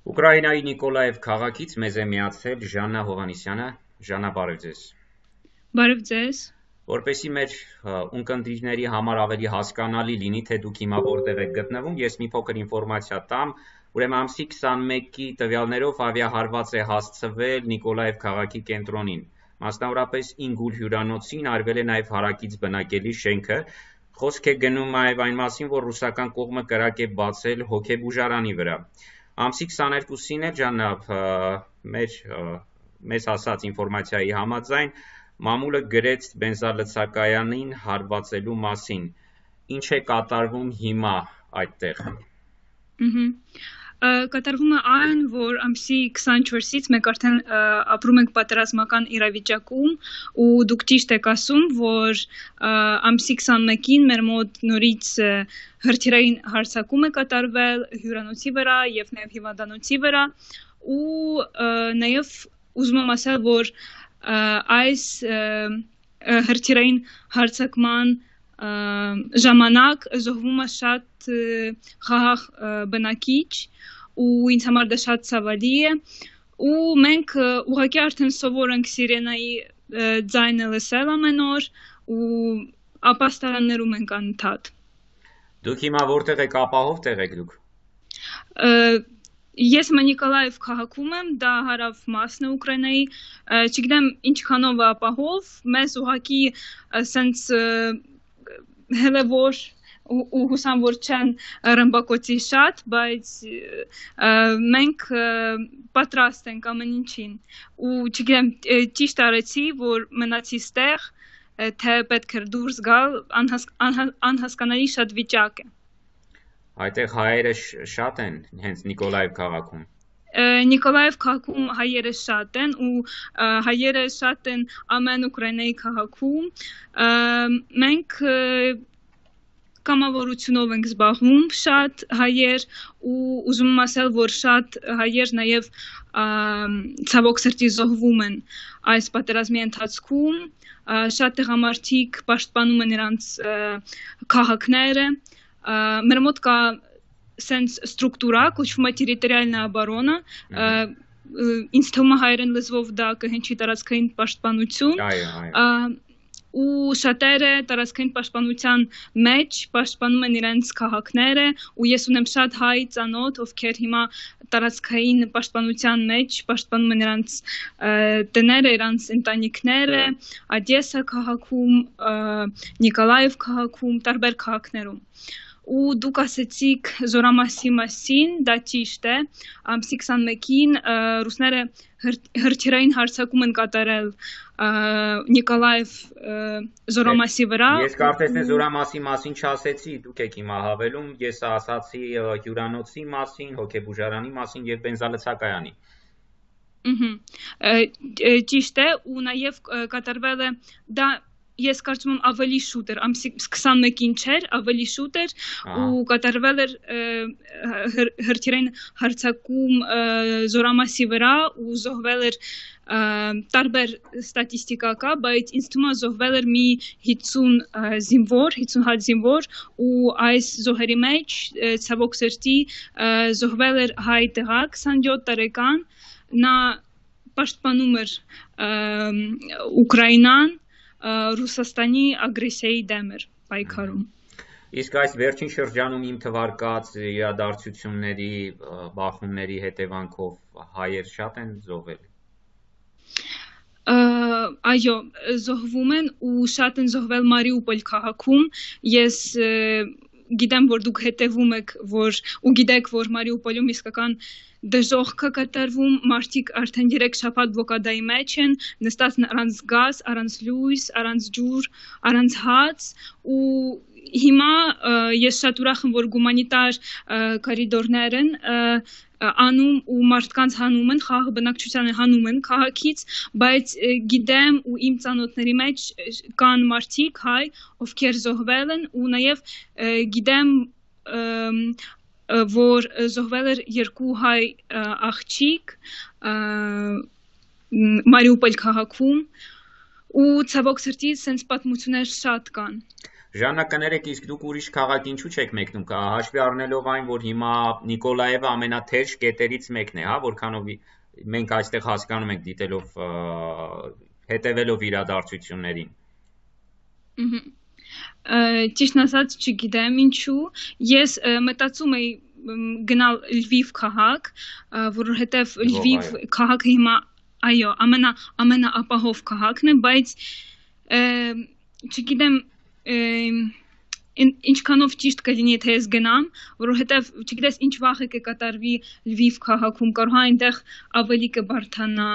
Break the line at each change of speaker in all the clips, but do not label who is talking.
Ուկրաինայի Նիկոլաև քաղաքից մեզ է միացել Ժաննա Հովհաննիսյանը։ Ժաննա, բարև ձեզ։
Բարև ձեզ։
Որպեսզի մեր ունկնդիրների համար ավելի հասկանալի լինի, թե դուք հիմա որտեղ եք գտնվում, ես մի փոքր ինֆորմացիա տամ։ Ուրեմն ամսի 21-ի տվյալներով ավիահարված է հասցվել Նիկոլաև քաղաքի կենտրոնին։ Մասնավորապես Ինգուլ հյուրանոցին արվել է նաև հարակից բնակելի շենքը։ Խոսք է գնում նաև այն մասին, որ ռուսական կողմը կրակ է բացել հոգեբուժարանի վրա։ Ամսի 22-ին էլ Ժաննա մեզ հասած ինֆորմացիայի համաձայն մամուլը գրեց բենզալցակայանին հարվածելու մասին։ Ինչ է կատարվում հիմա այդտեղ։
Կատարվում է այն, որ ամսի 24-ից մենք արդեն ապրում ենք պատերազմական իրավիճակում ու դուք ճիշտ եք ասում, որ ամսի 21-ին մեր մոտ նորից հրթիռային հարձակում է կատարվել հյուրանոցի վրա եւ նաեւ հիվանդանոցի վրա ու նաեւ ուզում եմ ասել, որ այս հրթիռային հարձակման ժամանակ զոհվում է շատ խաղաղ բնակիչ ու ինձ համար դա շատ ցավալի է ու մենք ուղղակի արդեն սովոր ենք սիրենայի ձայնը լսել ամեն օր ու ապաստարաններում ենք անընդհատ։
Դուք հիմա որտեղ եք, ապահով տեղ եք դուք։
Ես Նիկոլաև քաղաքում եմ, դա հարավ մասն է Ուկրաինայի, չգիտեմ ինչքանով է ապահով, մեզ ուղղակի սենց հելևոր ու հուսամ որ չեն ռմբակոծի շատ, բայց մենք պատրաստ ենք ամեն ինչին ու չգիտեմ ճիշտ արեցի, որ մնացի ստեղ, թե պետք է դուրս գալ, անհասկանալի շատ վիճակ է։
Այդտեղ հայերը շատ են հենց Նիկոլաև քաղաքում։
Նիկոլաև քաղաքում հայերը շատ են ու հայերը շատ են ամեն Ուկրաինայի քաղաքում։ Մենք կամավորությունով ենք զբաղվում շատ հայեր ու ուզում եմ ասել, որ շատ հայեր նաև ցավոք սրտի զոհվում են այս պատերազմի ընթացքում, շատ տղամարդիկ պաշտպանում են իրենց քաղաքները, մեր մոտ կա սենց ստրուկտուրա, կոչվում է տերիտորիալնա оборона, ինձ թվում է հայերեն լեզվով դա կհնչի տարածքային պաշտպանություն, ու շատերը տարածքային պաշտպանության մեջ պաշտպանում են իրենց քաղաքները ու ես ունեմ շատ հայ ծանոթ, ովքեր հիմա տարածքային պաշտպանության մեջ պաշտպանում են իրենց տները, իրենց ընտանիքները, Օդեսա քաղաքում, Նիկոլաև քաղաքում, տարբեր քաղաքներում։ Ու դուք ասեցիք զորամասի մասին, դա ճիշտ է, ամսի 21-ին ռուսները հրթիռային հարձակում են կատարել Նիկոլաև զորամասի վրա։
Ես կարծես թե զորամասի մասին չասեցի, դուք եք հիմա հավելում, ես ասացի հյուրանոցի մասին, հոգեբուժարանի մասին եւ բենզալցակայանի։
Ճիշտ է, ու նաեւ կատարվել է դա Ես կարծում եմ ավելի շուտ էր, ամսի 21-ին չէր, ավելի շուտ էր ու կատարվել էր հրթիռային հարձակում զորամասի վրա ու զոհվել էր տարբեր ստատիստիկա կա, բայց ինձ թվում է զոհվել էր մի 50 զինվոր, 50 հատ զինվոր ու այս զոհերի մեջ ցավոք սրտի զոհվել էր հայ տղա 27 տարեկան, նա պաշտպանում էր Ուկրաինան Ռուսաստանի ագրեսիայի դեմ էր պայքարում։
Իսկ այս վերջին շրջանում իմ թվարկած իրադարձությունների, բախումների հետևանքով հայեր շատ են զոհվել։
Այո, զոհվում են ու շատ են զոհվել Մարիուպոլ քաղաքում։ Ես գիտեմ, որ դուք հետևում եք, ու գիտեք, որ Մարիուպոլում իսկական դժոխք է կատարվում, մարդիկ արդեն 3 շաբաթ բլոկադայի մեջ են, նստած առանց գազ, առանց լույս, առանց ջուր, առանց հաց ու հիմա ես շատ ուրախ եմ, որ գումանիտար կորիդորներ են անում ու մարդկանց հանում են, խաղաղ բնակչությանը հանում են քաղաքից, բայց գիտեմ ու իմ ծանոթների մեջ կան մարդիկ հայ, ովքեր զոհվել են ու նաև գիտեմ որ զոհվել էր 2 հայ աղջիկ Մարիուպոլ քաղաքում ու ցավոք սրտի սենց պատմություններ շատ կան։
Ժաննա, կներեք, իսկ դուք ուրիշ քաղաք ինչու չեք մեկնում, հաշվի առնելով այն, որ հիմա Նիկոլաևը ամենաթեժ կետերից մեկն է, հա, որքանով մենք այստեղ հասկանում ենք դիտելով, հետևելով իրադարձություններին։
Ճիշտն ասած, չգիտեմ ինչու, ես մտածում էի գնալ Լվիվ քաղաք, որովհետև Լվիվ քաղաքը հիմա, այո, ամենաապահով քաղաքն է, բայց չգիտեմ ինչքանով ճիշտ կլինի եթե ես գնամ, որովհետև չգիտես ինչ վախ է կկատարվի Լվիվ քաղաքում, կարող է այնտեղ ավելի կբարդանա,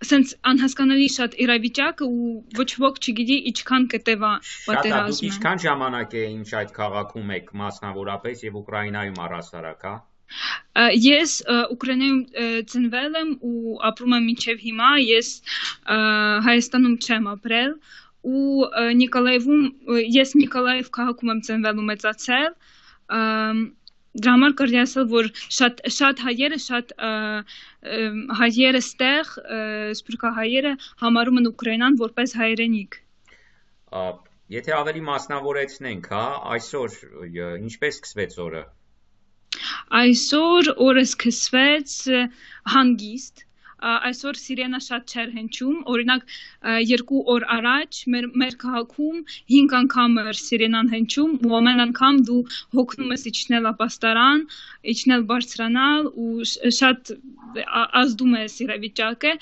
սենց անհասկանալի շատ իրավիճակը ու ոչ ոք չգիտի ինչքան կտևա պատերազմը։
Դուք ինչքան ժամանակ է ինչ այդ քաղաքում եք մասնավորապես եւ Ուկրաինայում առհասարակ, հա։
Ես Ուկրաինայում ծնվել եմ ու ապրում եմ մինչև հիմա, ես Հայաստանում չեմ ապրել ու ես Նիկոլաև քաղաքում եմ ծնվել ու մեծացել, դրա համար կարելի ասել, որ շատ հայերը ստեղ, սփյուռքահայերը համարում են Ուկրաինան որպես հայրենիք։
Եթե ավելի մասնավորեցնենք, հա, այսօր ինչպես սկսվեց օրը։
Այսօր օրը սկսվեց հանգիստ, այսօր սիրենա շատ չէր հնչում, օրինակ 2 օր առաջ մեր քաղաքում 5 անգամ էր սիրենան հնչում ու ամեն անգամ դու հոգնում ես իջնել ապաստարան, իջնել բարձրանալ ու շատ ազդում է իրավիճակը,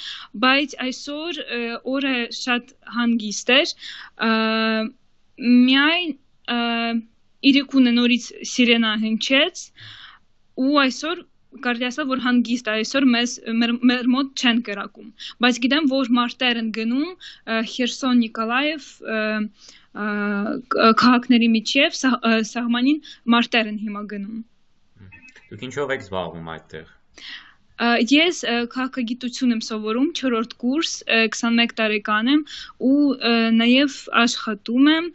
բայց այսօր օրը շատ հանգիստ էր, միայն իրիկունը նորից սիրենա հնչեց ու այսօր կարելի ասել, որ հանգիստ այսօր մեր մոտ չեն կրակում, բայց գիտեմ, որ մարտեր են գնում Խերսոն, Նիկոլաև քաղաքների միջև սահմանին մարտեր են հիմա գնում։
Դուք ինչով եք զբաղվում այդտեղ։
Ես քաղաքագիտություն եմ սովորում 4-րդ կուրս, 21 տարեկան եմ ու նաև աշխատում եմ,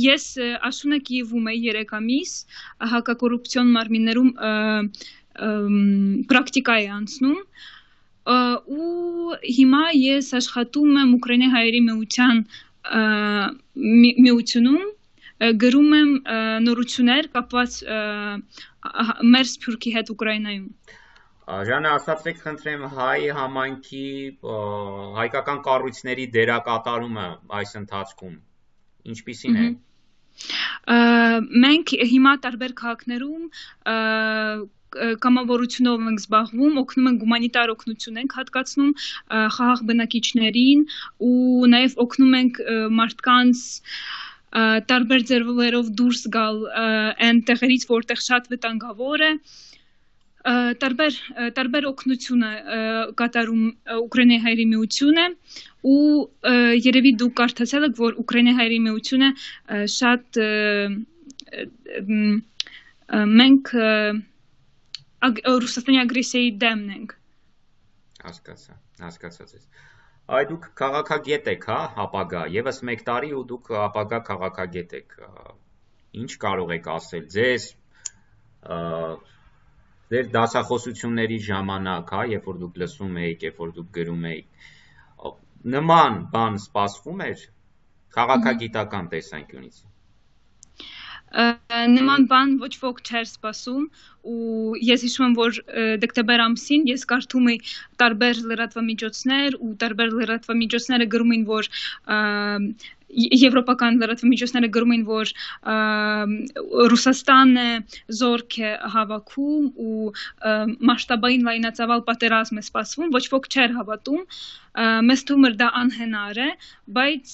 ես Աշունա Կիևում եմ 3 ամիս, հակակոռուպցիոն մարմիններում պրակտիկա է անցնում ու հիմա ես աշխատում եմ Ուկրաինայի հայերի միությունում, գրում եմ նորություններ կապված մեր սփյուռքի հետ Ուկրաինայում։
Ժաննա, ասացեք խնդրեմ հայ համայնքի հայկական կառույցների դերակատարումը այս ընթացքում ինչպիսին է։
Մենք հիմա տարբեր քաղաքներում կամավորությունով ենք զբաղվում, օգնում ենք հումանիտար օգնություն ենք հատկացնում խաղաղ բնակիչներին ու նաև օգնում ենք մարդկանց տարբեր ձևերով դուրս գալ այն տեղերից, որտեղ շատ վտանգավոր է, տարբեր օգնություն է կատարում Ուկրաինայի հայերի միությունը ու երևի դուք կարդացել եք, որ Ուկրաինայի հայերի միությունը շատ մենք Ռուսաստանի ագրեսիայի դեմն ենք։
Հասկացած ես։ Այ դուք քաղաքագետ եք, հա, ապագա, եւս 1 տարի ու դուք ապագա քաղաքագետ եք։ Ինչ կարող եք ասել ձեզ ձեր դասախոսությունների ժամանակ, հա, երբ որ դուք լսում եք, երբ որ դուք գրում եք, նման բան սպասվում էր քաղաքագիտական տեսանկյունից։
Նման բան ոչ ոք չէր սպասում ու ես հիշում եմ, որ դեկտեմբեր ամսին ես կարդում էի տարբեր լրատվամիջոցներ ու տարբեր լրատվամիջոցները գրում էին, որ եվրոպական լրատվամիջոցները գրում էին, որ Ռուսաստանը զորք է հավաքում ու մասշտաբային լայնածավալ պատերազմ է սպասվում, ոչ ոք չէր հավատում, մեզ թվում էր դա անհնար է, բայց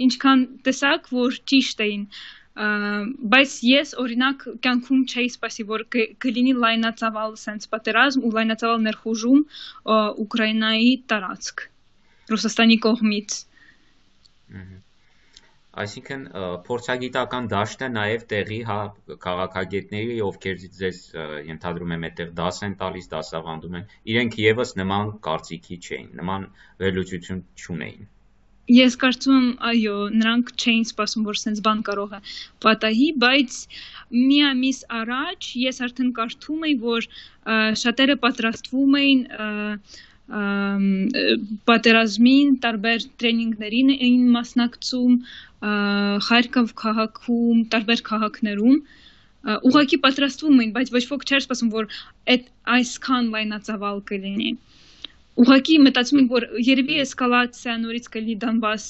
ինչքան տեսակ, որ ճիշտ էին, բայց ես օրինակ կյանքում չէի սպասի, որ կլինի լայնածավալ սենց պատերազմ ու լայնածավալ ներխուժում Ուկրաինայի տարածք Ռուսաստանի կողմից։
Այսինքն փորձագիտական դաշտը նաև տեղի հա քաղաքագետների, ովքեր ձեզ ենթադրում եմ այդտեղ դաս են տալիս, դասավանդում են, իրենք եւս նման կարծիքի չէին, նման վերլուծություն չունեին։
Ես կարծում եմ, այո, նրանք չէին սպասում, որ սենց բան կարող է պատահի, բայց մի ամիս առաջ ես արդեն կարդում էի, որ շատերը պատրաստվում էին պատերազմին տարբեր տրեյնինգներին էին մասնակցում Խարկով քաղաքում, տարբեր քաղաքներում ուղղակի պատրաստվում էին, բայց ոչ ոք չէր սպասում, որ այսքան լայնածավալ կլինի։ Ուղղակի մտածում են, որ երևի էսկալացիա նորից կլինի Դոնբաս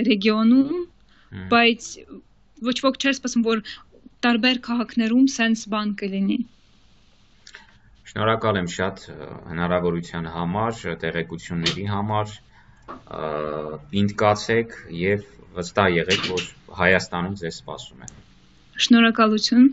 ռեգիոնում, բայց ոչ ոք չէր սպասում, որ տարբեր քաղաքներում սենց բան կլինի։
Շնորհակալ եմ շատ հնարավորության համար, տեղեկությունների համար, պինդ կացեք եւ վստահ եղեք, որ Հայաստանում ձեզ սպասում են։
Շնորհակալություն։